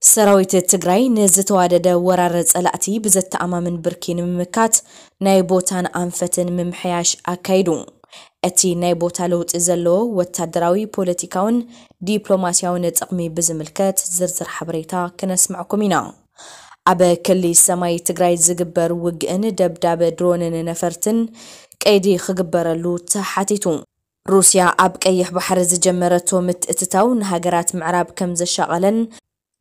ሰራዊት ትግራይ ንዝተዋደደ ወራር ጸላእቲ ብዘተኣማምን ብርኪ ንምምካት ናይ ቦታን ኣንፈትን ምምሕያሽ ኣካይዱ። እቲ ናይ ቦታ ለውጢ ዘለዎ ወታደራዊ፣ ፖለቲካውን ዲፕሎማሲያውን ጥቕሚ ብዝምልከት ዝርዝር ሓበሬታ ክነስምዕኩም ኢና። ኣብ ክሊ ሰማይ ትግራይ ዝግበር ውግእን ደብዳበ ድሮንን ነፈርትን ቀይዲ ክግበረሉ ተሓቲቱ። ሩስያ ኣብ ቀይሕ ባሕሪ ዝጀመረቶ ምትእትታው ንሃገራት ምዕራብ ከም ዘሻቐለን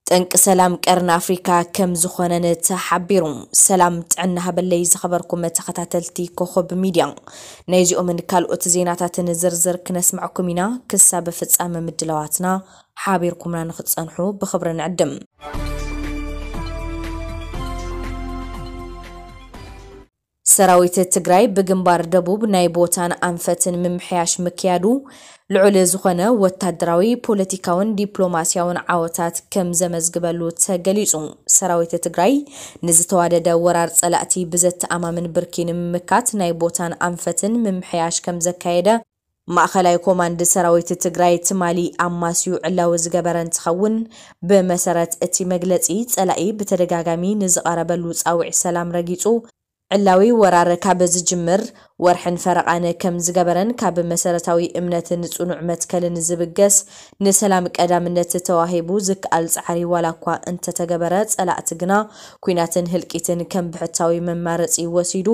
ጠንቂ ሰላም ቀርኒ ኣፍሪካ ከም ዝኾነን ተሓቢሩ። ሰላም ጥዕና ሃበለይ ዝኸበርኩም ተኸታተልቲ ኮኸብ ሚድያ፣ ናይዚኦምን ካልኦት ዜናታትን ዝርዝር ክነስምዐኩም ኢና። ክሳብ ፍጻመ ምድላዋትና ሓቢርኩምና ንክትጸንሑ ብኽብሪ ንዕድም። ሰራዊት ትግራይ ብግንባር ደቡብ ናይ ቦታን ኣንፈትን ምምሕያሽ ምክያዱ ልዑል ዝኾነ ወታደራዊ፣ ፖለቲካውን ዲፕሎማሲያውን ዓወታት ከም ዘመዝግበሉ ተገሊጹ። ሰራዊት ትግራይ ንዝተዋደደ ወራር ጸላእቲ ብዘተኣማምን ብርኪ ንምምካት ናይ ቦታን ኣንፈትን ምምሕያሽ ከም ዘካየደ ማእኸላይ ኮማንድ ሰራዊት ትግራይ ትማሊ ኣማስዩ ዕላዊ ዝገበረ እንትኸውን፣ ብመሰረት እቲ መግለጺ፣ ጸላኢ ብተደጋጋሚ ንዝቐረበሉ ጻውዒት ሰላም ረጊጹ፣ ዕላዊ ወራር ካብ ዝጅምር ወርሕን ፈረቓን ከም ዝገበረን፣ ካብ መሰረታዊ እምነትን ጽኑዕ መትከልን ዝብገስ፣ ንሰላም ቀዳምነት ተዋሂቡ ዝከኣል ጻዕሪ ዋላ እኳ እንተተገበረ፣ ጸላእቲ ግና ኲናትን ህልቂትን ከም ብሕታዊ መማረጺ ወሲዱ፣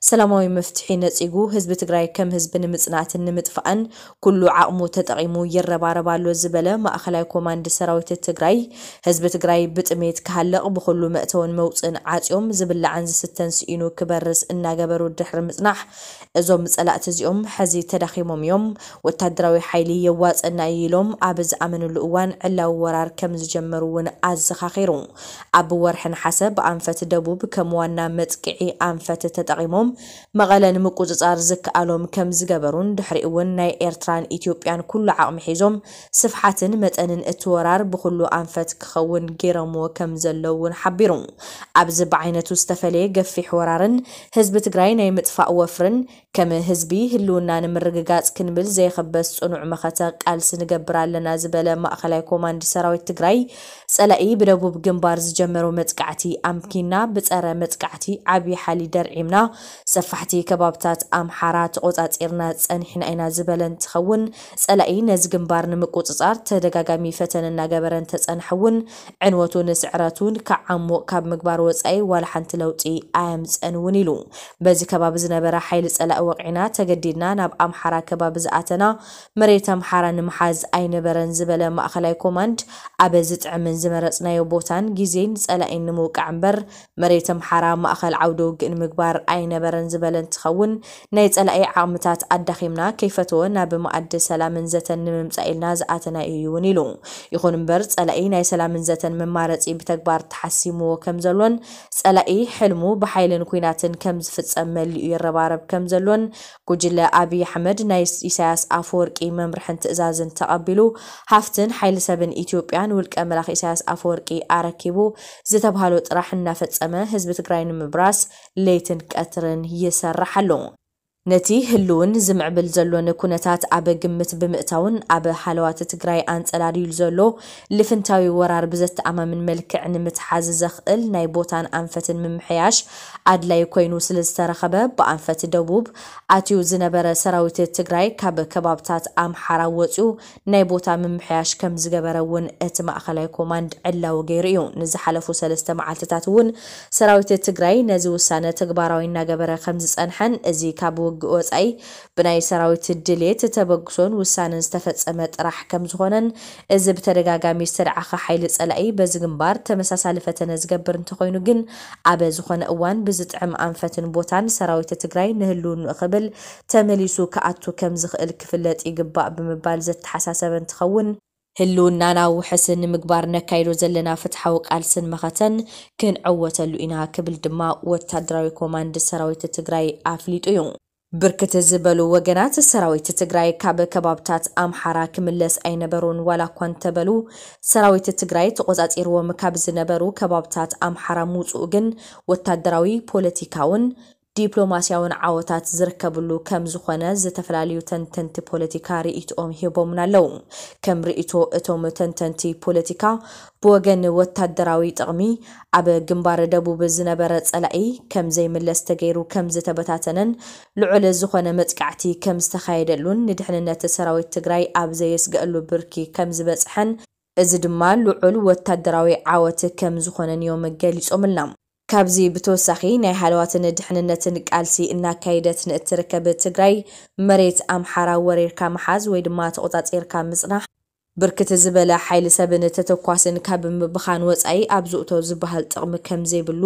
ሰላማዊ መፍትሒ ነጺጉ፣ ህዝቢ ትግራይ ከም ህዝቢ ንምጽናትን ንምጥፋእን ኩሉ ዓቕሙ ተጠቒሙ ይረባረብ ኣሎ ዝበለ ማእኸላይ ኮማንድ ሰራዊት ትግራይ፣ ህዝቢ ትግራይ ብጥሜት ክሃልቕ፣ ብኹሉ መእተውን መውፅእን ዓፅዮም፣ ዝብላዕን ዝስተን ስኢኑ ክበርስ እናገበሩ ድሕሪ ምፅናሕ፣ እዞም ፀላእቲ እዚኦም ሕዚ ተዳኺሞም እዮም፣ ወታደራዊ ሓይሊ የዋፀና እዩ ኢሎም ኣብ ዝኣመንሉ እዋን ዕላዊ ወራር ከም ዝጀመሩ እውን ኣዘኻኺሩ። ኣብ ወርሒ ነሓሰ ብኣንፈት ደቡብ ከም ዋና መጥቅዒ ኣንፈት ተጠቒሞም መቐለ ንምቁፅፃር ዝከኣሎም ከም ዝገበሩን፣ ድሕሪኡ እውን ናይ ኤርትራን ኢትዮጵያን ኩሉ ዓቕሚ ሒዞም ስፍሓትን መጠንን እቲ ወራር ብኹሉ ኣንፈት ክኸውን ገይሮምዎ ከም ዘለዉ እውን ሓቢሩ። ኣብዚ ብዓይነቱ ዝተፈለየ ገፊሕ ወራርን ህዝቢ ትግራይ ናይ ምጥፋእ ወፍርን፣ ከም ህዝቢ ህልውና ንምርግጋፅ ክንብል ዘይኽበስ ፅኑዕ መኸተ ቃልሲ ንገብር ኣለና ዝበለ ማእኸላይ ኮማንድ ሰራዊት ትግራይ፣ ጸላኢ ብደቡብ ግንባር ዝጀመሮ መጥቃዕቲ ኣምኪና፣ ብጸረ መጥቃዕቲ ዓብዪ ሓሊ ደርዒምና፣ ሰፋሕቲ ከባብታት ኣምሓራ ተቖጻጺርና ጸኒሕና ኢና ዝበለ እንትኸውን፣ ጸላኢ ነዚ ግንባር ንምቁጽጻር ተደጋጋሚ ፈተነ እናገበረ እንተጸንሐ እውን፣ ዕንወቱን ስዕረቱን ክዓሙቕ ካብ ምግባር ወጻኢ ዋላ ሓንቲ ለውጢ ኣየምጸን እውን ኢሉ። በዚ ከባቢ ዝነበረ ሓይሊ ጸላኢ ወቒዕና ተገዲድና ናብ ኣምሓራ ከባቢ ዝኣተና፣ መሬት ኣምሓራ ንምሓዝ ኣይነበረን ዝበለ ማእኸላይ ኮማንድ፣ ኣብ ዝጥዕምን ዝመረጽናዮ ቦታን ግዜን ጸላኢ ንምውቃዕ እምበር፣ መሬት ኣምሓራ ማእኸል ዓውደ ውግእ ንምግባር ኣይነበረን ዝበለ እንትኸውን፣ ናይ ጸላኢ ዓቕምታት ኣዳኺምና ከይፈተወ ናብ መኣዲ ሰላምን ዘተን ንምምጻእ ኢልና ዝኣተናዮ እዩ እውን ኢሉ። ይኹን እምበር፣ ጸላኢ ናይ ሰላምን ዘተን መማረጺ ብተግባር ተሓሲምዎ ከም ዘሎን፣ ጸላኢ ሕልሙ ብሓይልን ኲናትን ከም ዝፍጸም መሊኡ ይረባረብ ከም ዘሎን፣ ጉጅለ ኣብይ ኣሕመድ ናይ ኢሳያስ ኣፈወርቂ መምርሕን ትእዛዝን ተቐቢሉ፣ ሃፍትን ሓይሊ ሰብን ኢትዮጵያ ንውልቀ መላኺ ኢሳያስ ኣፈወርቂ ኣረኪቡ ዝተብሃሎ ጥራሕ እናፈጸመ፣ ህዝቢ ትግራይ ንምብራስ ለይትን ቀትርን ይሰርሕ ኣሎ። ነቲ ህልውን ዝምዕብል ዘሎን ኩነታት ኣብ ግምት ብምእታውን፣ ኣብ ሃለዋት ትግራይ ኣንጸላልዩሉ ዘሎ ልፍንታዊ ወራር ብዘተኣማምን መልክዕ ንምትሓዝ ዘኽእል ናይ ቦታን ኣንፈትን ምምሕያሽ ኣድላይ ኮይኑ ስለ ዝተረኸበ፣ ብኣንፈት ደቡብ ኣትዩ ዝነበረ ሰራዊት ትግራይ ካብ ከባብታት ኣምሓራ ወጺኡ ናይ ቦታ ምምሕያሽ ከም ዝገበረ እውን እቲ ማእኸላይ ኮማንድ ዕላዊ ገይሩ እዩ። ንዝሓለፉ ሰለስተ መዓልትታት እውን ሰራዊት ትግራይ ነዚ ውሳነ ተግባራዊ እናገበረ ከም ዝጸንሐን፣ እዚ ካብ ውግእ ወጻኢ ብናይ ሰራዊት ድሌት፣ ተበግሶን ውሳነን ዝተፈጸመ ጥራሕ ከም ዝኾነን፣ እዚ ብተደጋጋሚ ዝተደዓኸ ሓይሊ ጸላኢ በዚ ግንባር ተመሳሳሊ ፈተነ ዝገብር እንተኾይኑ ግን፣ ኣብ ዝኾነ እዋን ብዝጥዕም ኣንፈትን ቦታን ሰራዊት ትግራይ ንህልውንኡ ክብል ተመሊሱ ክኣቱ ከም ዝኽእል ክፍለጥ ይግባእ ብምባል ዘተሓሳሰበ እንትኸውን፣ ህልውናና ውሕስ ንምግባር ነካይዶ ዘለና ፍትሓዊ ቃልስን መኸተን ክንዕወተሉ ኢና ክብል ድማ ወታደራዊ ኮማንድ ሰራዊት ትግራይ ኣፍሊጡ እዩ። ብርክት ዝበሉ ወገናት ሰራዊት ትግራይ ካብ ከባብታት ኣምሓራ ክምለስ ኣይነበሩን ዋላ እኳ እንተበሉ፣ ሰራዊት ትግራይ ተቆጻጺርዎም ካብ ዝነበሩ ከባብታት ኣምሓራ ምውፅኡ ግን ወታደራዊ፣ ፖለቲካውን ዲፕሎማስያውን ዓወታት ዝርከብሉ ከም ዝኾነ ዝተፈላለዩ ተንተንቲ ፖለቲካ ርእይቶኦም ሂቦምና ኣለዉ። ከም ርእይቶ እቶም ተንተንቲ ፖለቲካ፣ ብወገን ወታደራዊ ጥቕሚ ኣብ ግንባር ደቡብ ዝነበረ ጸላኢ ከም ዘይምለስ ተገይሩ ከም ዝተበታተነን ልዑል ዝኾነ መጥቃዕቲ ከም ዝተኻየደሉን ንድሕንነት ሰራዊት ትግራይ ኣብ ዘየስግአሉ ብርኪ ከም ዝበጽሐን እዚ ድማ ልዑል ወታደራዊ ዓወት ከም ዝኾነን እዮም ገሊጾምልና። ካብዚ ብተወሳኺ ናይ ሃለዋትን ድሕንነትን ቃልሲ እናካየደት ንእትርከብ ትግራይ መሬት ኣምሓራ ወሪርካ ምሓዝ ወይ ድማ ተቖጻጺርካ ምጽናሕ ብርክት ዝበለ ሓይሊ ሰብን ተተኳስን ካብ ምብኻን ወጻኢ ኣብ ዝእቶ ዝበሃል ጥቕሚ ከም ዘይብሉ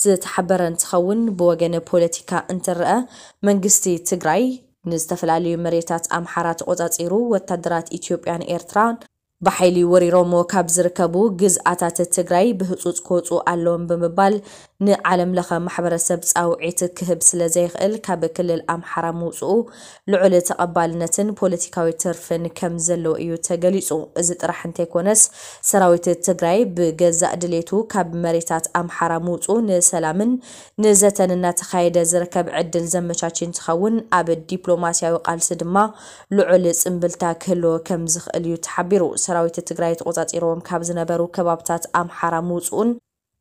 ዝተሓበረ እንትኸውን ብወገን ፖለቲካ እንትረአ መንግስቲ ትግራይ ንዝተፈላለዩ መሬታት ኣምሓራ ተቖጻጺሩ ወታደራት ኢትዮጵያን ኤርትራን ብሓይሊ ወሪሮሞ ካብ ዝርከቡ ግዝኣታት ትግራይ ብህፁፅ ክወፁ ኣለዎም ብምባል ንዓለም ለኸ ማሕበረሰብ ፃውዒት ክህብ ስለ ዘይኽእል ካብ ክልል ኣምሓራ ምውፅኡ ልዑል ተቐባልነትን ፖለቲካዊ ትርፍን ከም ዘለዎ እዩ ተገሊፁ። እዚ ጥራሕ እንተይኮነስ ሰራዊት ትግራይ ብገዛእ ድሌቱ ካብ መሬታት ኣምሓራ ምውፁ ንሰላምን ንዘተን እናተኻየደ ዝርከብ ዕድል ዘመቻች እንትኸውን ኣብ ዲፕሎማስያዊ ቃልሲ ድማ ልዑል ጽምብልታ ክህልዎ ከም ዝኽእል እዩ ተሓቢሩ። ሰራዊት ትግራይ ተቖጻጺሮም ካብ ዝነበሩ ከባብታት ኣምሓራ ምውጽኡን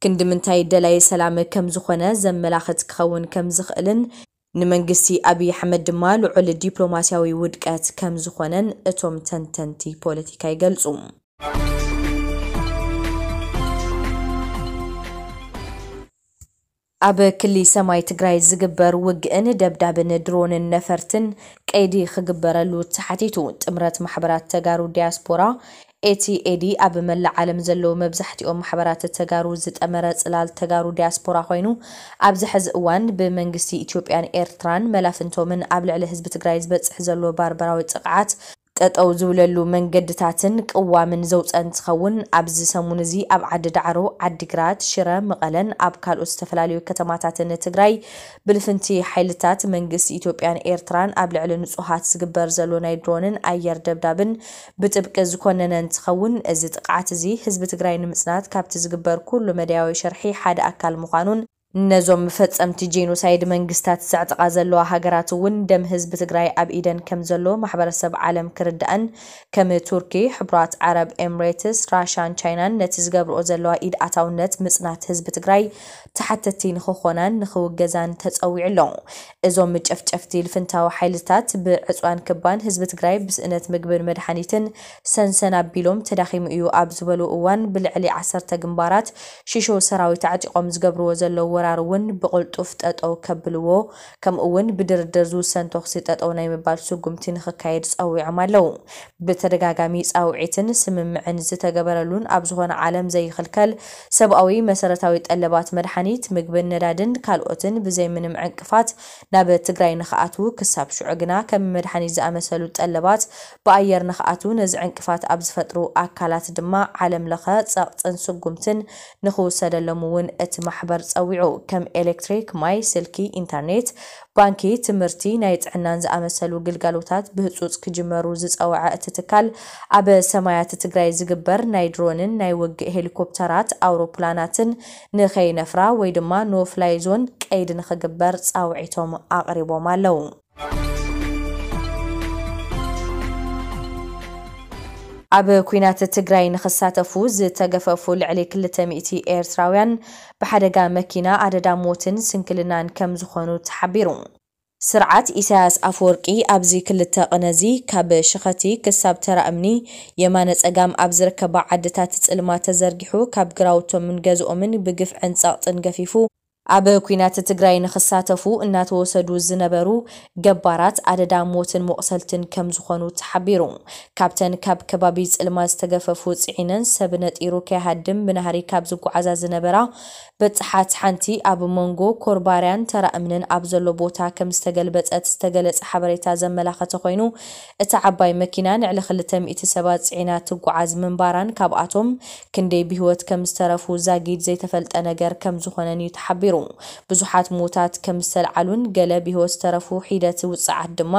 ክንዲ ምንታይ ደላይ ሰላም ከም ዝኾነ ዘመላኽት ክኸውን ከም ዝኽእልን ንመንግስቲ ኣብይ ኣሕመድ ድማ ልዑል ዲፕሎማስያዊ ውድቀት ከም ዝኾነን እቶም ተንተንቲ ፖለቲካ ይገልጹ። ኣብ ክሊ ሰማይ ትግራይ ዝግበር ውግእን ደብዳብን ድሮንን ነፈርትን ቀይዲ ክግበረሉ ተሓቲቱ። ጥምረት ማሕበራት ተጋሩ ዲያስፖራ ኤቲኤዲ ኣብ መላእ ዓለም ዘለዉ መብዛሕትኦም ማሕበራት ተጋሩ ዝጠመረ ጽላል ተጋሩ ዲያስፖራ ኮይኑ ኣብዚ ሕዚ እዋን ብመንግስቲ ኢትዮጵያን ኤርትራን መላፍንቶምን ኣብ ልዕሊ ህዝቢ ትግራይ ዝበጽሕ ዘሎ ባርበራዊ ጥቕዓት ጠጠው ዝብለሉ መንገድታትን ቅዋምን ዘውፀ እንትኸውን ኣብዚ ሰሙን እዚ ኣብ ዓዲ ዳዕሮ፣ ዓዲግራት፣ ሽረ፣ መቐለን ኣብ ካልኦት ዝተፈላለዩ ከተማታትን ትግራይ ብልፍንቲ ሓይልታት መንግስቲ ኢትዮጵያን ኤርትራን ኣብ ልዕሊ ንፁሃት ዝግበር ዘሎ ናይ ድሮንን ኣየር ደብዳብን ብጥብቂ ዝኾነነ እንትኸውን እዚ ጥቕዓት እዚ ህዝቢ ትግራይ ንምፅናት ካብቲ ዝግበር ኩሉ መዳያዊ ሽርሒ ሓደ ኣካል ምዃኑን ነዞም ፈጸምቲ ጄኖሳይድ መንግስታት ዘዕጥቓ ዘለዋ ሃገራት እውን ደም ህዝቢ ትግራይ ኣብ ኢደን ከም ዘሎ ማሕበረሰብ ዓለም ክርዳእን ከም ቱርኪ፣ ሕቡራት ዓረብ ኤምሬትስ፣ ራሻን ቻይናን ነቲ ዝገብርኦ ዘለዋ ኢድ ኣታውነት ምጽናት ህዝቢ ትግራይ ተሓተቲ ንክኾናን ንክውገዛን ተጸዊዑ ኣሎ። እዞም ጨፍጨፍቲ ልፍንታዊ ሓይልታት ብዕፅዋን ክባን ህዝቢ ትግራይ ብስእነት ምግብን መድሓኒትን ሰንሰን ኣቢሎም ተዳኺሙ እዩ ኣብ ዝበሉ እዋን ብልዕሊ ዓሰርተ ግንባራት ሽሾ ሰራዊት ኣዕጢቖም ዝገብርዎ ዘለዉ ወራር እውን ብቕልጡፍ ጠጠው ከብልዎ ከምኡ እውን ብድርድር ዝውሰን ተኹሲ ጠጠው ናይ ምባል ስጉምቲ ንኽካየድ ጸዊዖም ኣለዉ። ብተደጋጋሚ ጻውዒትን ስምምዕን ዝተገበረሉን ኣብ ዝኾነ ዓለም ዘይኽልከል ሰብኣዊ መሰረታዊ ጠለባት መድሓኒት፣ ምግብን ነዳድን ካልኦትን ብዘይ ምንም ዕንቅፋት ናብ ትግራይ ንኽኣትዉ ክሳብ ሽዑ ግና ከም መድሓኒት ዝኣመሰሉ ጠለባት ብኣየር ንኽኣትዉ ነዚ ዕንቅፋት ኣብ ዝፈጥሩ ኣካላት ድማ ዓለም ለኸ ጸቕጥን ስጉምትን ንኽውሰደሎም እውን እቲ ማሕበር ጸዊዑ። ከም ኤሌክትሪክ፣ ማይ፣ ስልኪ፣ ኢንተርኔት፣ ባንኪ፣ ትምህርቲ፣ ናይ ጥዕናን ዝኣመሰሉ ግልጋሎታት ብህጹጽ ክጅመሩ ዝጸወዐ እቲ ትካል ኣብ ሰማያት ትግራይ ዝግበር ናይ ድሮንን ናይ ውግእ ሄሊኮፕተራት ኣውሮፕላናትን ንኸይነፍራ ወይ ድማ ኖ ፍላይ ዞን ቀይዲ ንኽግበር ጻውዒቶም ኣቕሪቦም ኣለዉ። ኣብ ኲናት ትግራይ ንኽሳተፉ ዝተገፈፉ ልዕሊ ክልተ ሚእቲ ኤርትራውያን ብሓደጋ መኪና ኣደዳ ሞትን ስንክልናን ከም ዝኾኑ ተሓቢሩ። ስርዓት ኢሳያስ ኣፈወርቂ ኣብዚ ክልተ ቅነዚ ካብ ሽኸቲ ክሳብ ተራ እምኒ የማነ ጸጋም ኣብ ዝርከባ ዓድታት ጽልማት ተዘርጊሑ ካብ ግራውቶምን ገዝኦምን ብግፍዕን ጸቕጥን ገፊፉ ኣብ ኲናት ትግራይ ንኽሳተፉ እናተወሰዱ ዝነበሩ ገባራት ኣደዳ ሞትን መቑሰልትን ከም ዝኾኑ ተሓቢሩ። ካብተን ካብ ከባቢ ጽልማ ዝተገፈፉ ጽዒነን ሰብ ነጢሩ ከይሃድም ብናህሪ ካብ ዝጓዓዛ ዝነበራ በጽሓት ሓንቲ ኣብ መንጎ ኮርባርያን ተራ እምንን ኣብ ዘሎ ቦታ ከም ዝተገልበጸት ዝተገለጸ ሓበሬታ ዘመላኸተ ኮይኑ እታ ዓባይ መኪና ንዕሊ ክልተ ሚእቲ ሰባት ጽዒና ትጓዓዝ ምንባራን ካብኣቶም ክንደይ ብህይወት ከም ዝተረፉ ዛጊድ ዘይተፈልጠ ነገር ከም ዝኾነን እዩ ተሓቢሩ። ብዙሓት ሞታት ከም ዝተልዓሉን ገለ ብህይወት ዝተረፉ ሒደት ውጽዓት ድማ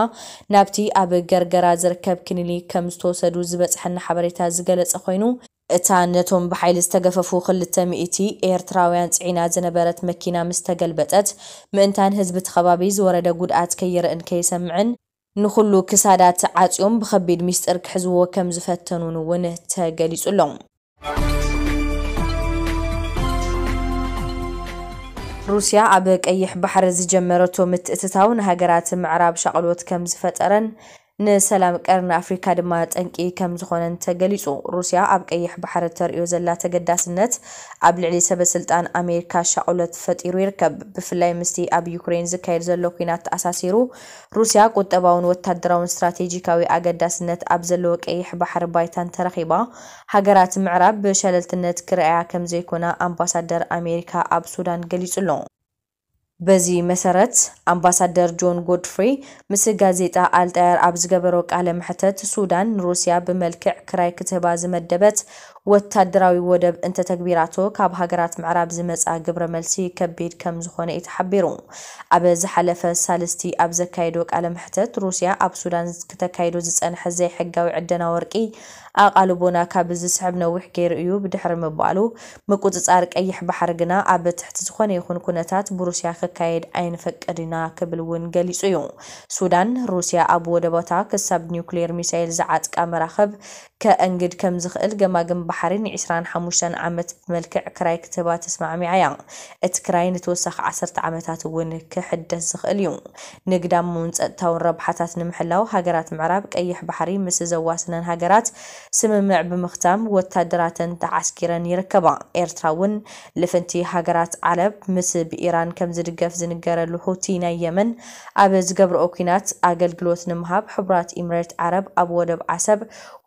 ናብቲ ኣብ ገርገራ ዝርከብ ክሊኒክ ከም ዝተወሰዱ ዝበጽሐና ሓበሬታ ዝገለጸ ኮይኑ እታ ነቶም ብሓይሊ ዝተገፈፉ ክልተ ሚእቲ ኤርትራውያን ጽዒና ዝነበረት መኪና ምስ ተገልበጠት፣ ምእንታን ህዝቢ እቲ ከባቢ ዝወረደ ጉድኣት ከይርእን ከይሰምዕን፣ ንኹሉ ክሳዳት ዓጽዮም ብኸቢድ ሚስጥር ክሕዝዎ ከም ዝፈተኑን እውን ተገሊጹ ኣሎ። ሩስያ ኣብ ቀይሕ ባሕሪ ዝጀመረቶ ምትእትታው ንሃገራት ምዕራብ ሻቕሎት ከም ዝፈጠረን ንሰላም ቀርኒ ኣፍሪካ ድማ ጠንቂ ከም ዝኾነን ተገሊጹ። ሩስያ ኣብ ቀይሕ ባሕሪ ተርእዮ ዘላ ተገዳስነት ኣብ ልዕሊ ሰበ ስልጣን ኣሜሪካ ሻቕሎት ፈጢሩ ይርከብ። ብፍላይ ምስቲ ኣብ ዩክሬን ዝካየድ ዘሎ ኲናት ተኣሳሲሩ፣ ሩስያ ቁጠባውን ወታደራውን ስትራቴጂካዊ ኣገዳስነት ኣብ ዘለዎ ቀይሕ ባሕሪ ባይታን ተረኺባ፣ ሃገራት ምዕራብ ብሸለልትነት ክረኣያ ከም ዘይኮና ኣምባሳደር ኣሜሪካ ኣብ ሱዳን ገሊጹ ኣሎ። በዚ መሰረት፣ ኣምባሳደር ጆን ጎድፍሪ ምስ ጋዜጣ ኣልጣየር ኣብ ዝገበሮ ቃለ መሕተት፣ ሱዳን ንሩስያ ብመልክዕ ክራይ ክትህባ ዝመደበት ወታደራዊ ወደብ እንተተግቢራቶ፣ ካብ ሃገራት ምዕራብ ዝመጻ ግብረ መልሲ ከቢድ ከም ዝኾነ እዩ ተሓቢሩ። ኣብ ዝሓለፈ ሳልስቲ ኣብ ዘካየዶ ቃለ መሕተት፣ ሩስያ ኣብ ሱዳን ክተካይዶ ዝጸንሐ ዘይሕጋዊ ዕደና ወርቂ ኣቓልቦና ካብ ዝስሕብ ነዊሕ ገይሩ እዩ፣ ብድሕሪ ምባሉ፣ ምቁጽጻር ቀይሕ ባሕሪ ግና ኣብ ትሕቲ ዝኾነ ይኹን ኩነታት ብሩስያ ክካየድ ኣይንፈቅድ ኢና ክብል እውን ገሊጹ እዩ። ሱዳን፣ ሩስያ ኣብ ወደባታ ክሳብ ኒውክሌር ሚሳይል ዝዓጥቃ መራኽብ ከእንግድ ከም ዝኽእል ገማግም ባሕሪ ንዒስራን ሓሙሽተን ዓመት ብመልክዕ ክራይ ክትህባ ተስማዕሚዓ እያ። እቲ ክራይ ንተወሳኺ ዓሰርተ ዓመታት እውን ክሕደስ ዝኽእል እዩ። ንግዳማውን ጸጥታውን ረብሓታት ንምሕላው ሃገራት ምዕራብ ቀይሕ ባሕሪ ምስ ዘዋስነን ሃገራት ስምምዕ ብምኽታም ወታደራተን ተዓስኪረን ይርከባ። ኤርትራ እውን ልፍንቲ ሃገራት ዓረብ ምስ ብኢራን ከም ዝድገፍ ዝንገረሉ ሁቲ ናይ የመን ኣብ ዝገብርኦ ኲናት ኣገልግሎት ንምሃብ ሕቡራት ኢምሬት ዓረብ ኣብ ወደብ ዓሰብ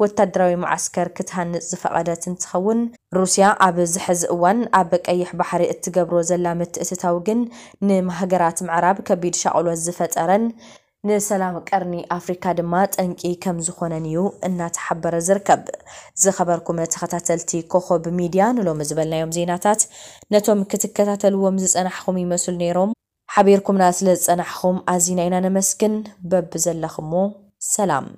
ወታደራዊ መዓስከር ክትሃንጽ ዝፈቐደት እንትኸውን፣ ሩስያ ኣብዚ ሕዚ እዋን ኣብ ቀይሕ ባሕሪ እትገብሮ ዘላ ምትእትታው ግን ንሃገራት ምዕራብ ከቢድ ሻቕሎት ዝፈጠረን ንሰላም ቀርኒ ኣፍሪካ ድማ ጠንቂ ከም ዝኾነን እዩ እናተሓበረ ዝርከብ። ዝኸበርኩም ተኸታተልቲ ኮኸብ ሚድያ፣ ንሎሚ ዝበልናዮም ዜናታት ነቶም ክትከታተልዎም ዝጸናሕኹም ይመስሉ ነይሮም። ሓቢርኩምና ስለ ዝጸናሕኹም ኣዚና ኢና ነመስግን። በብዘለኹሞ ሰላም።